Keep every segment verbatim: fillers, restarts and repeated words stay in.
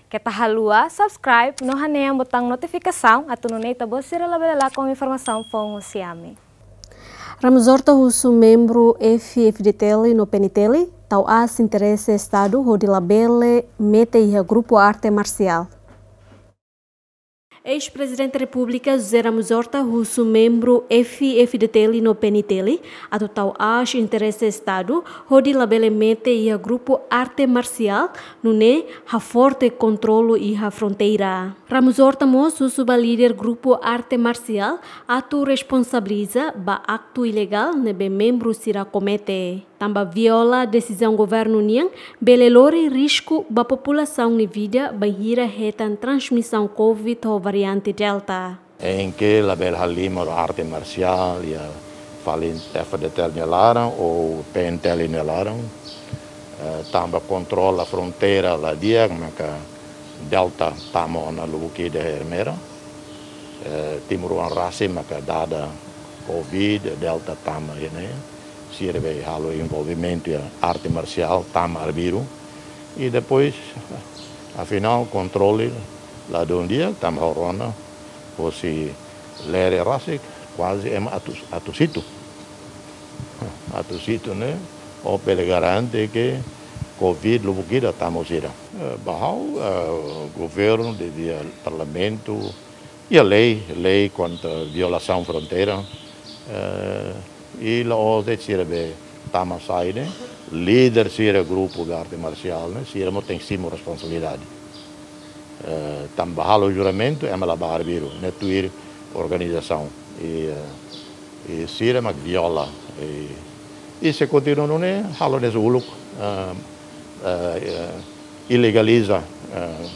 Keta haluha subscribe no hanehan botaun notifikasaun atu nune'e ita-boot sira labele lakon informasaun foun husi ami. Ramos Horta husu membru F-FDTL no PNTL tau aas interese Estadu hodi labele mete iha grupu arte marsiál. Eis-Prezidente Repúblika José Ramos Horta husu membru F-FDTL no PNTL atu tau aas interese Estadu hodi labele mete iha grupu arte marsiál, nune'e haforte kontrolu iha fronteira. Ramos Horta mós husu ba líder grupu arte marsiál atu responsabiliza ba aktu ilegál ne'ebé membru sira komete. Tanba viola desizaun governu nian bele lori risku ba populasaun nia vida bainhira hetan transmisaun COVID ho variante Delta. Em que labele halimar arte marsiál iha fali F-FDTL nia laran ou PNTL nia laran, eh, tanba kontrola fronteira la di'ak, maka Delta tama ona lubuk ida iha Ermera. Eh, timoroan rasik maka dada COVID, Delta tama iha ne'e. Sira be halo envolvimentu iha arte marsiál, tama arbiru. I depois, afinál, kontrolu la dún di'ak, tanba ha'u rona, hosi lere rasik, kuaze ema atu, atu situ. Atu situ ne'e, ó bele garante ke COVID lubuk ida tama sira. Eh, ba ha'u, eh, governu devia, parlamentu, iha lei, lei kontra violasaun fronteira. Eh, i la'ós de'it sira be tama sai ne'e, líder sira grupu be arte marsiál ne'e, sira mós tenke simu responsabilidade. Eh, tanba halo juramentu, ema la bá arbiru, ne'e tuir organizasaun. I, eh, i sira mak viola. I, i se kontinua nune'e, halo ne'e uluk, eh, eh, eh, ilegaliza, eh,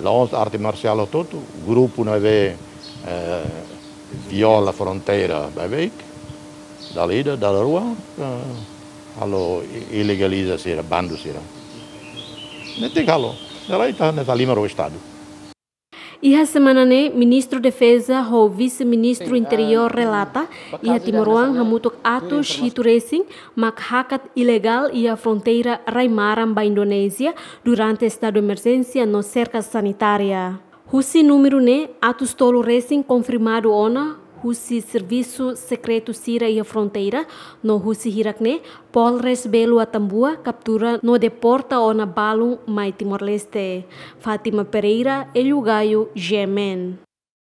la'ós arte marsiál hotu-hotu, grupu ne'ebé, eh, viola fronteira baibain, dala ida, dala rua, eh, halo i-, ilegaliza sira, bandu sira. Ne'e tenke halo, ne'e la ita, ne'e halimar ho Estadu. Iha semana ne'e, Ministru Defeza ho Vise-Ministru Interiór relata, iha timoroan hamutuk atus hitu resin mak hakat ilegál iha fronteira rai-maran ba Indonézia durante estadu emerjénsia no serka sanitária. Husi númeru ne'e, atus tolu resin konfirmadu ona husi servisu sekretu sira iha fronteira, no husi hirak ne'e, Polres Belu Atambua kaptura no deporta ona balun mai Timor-Leste. Fátima Pereira, Hélio Gaio, G M N.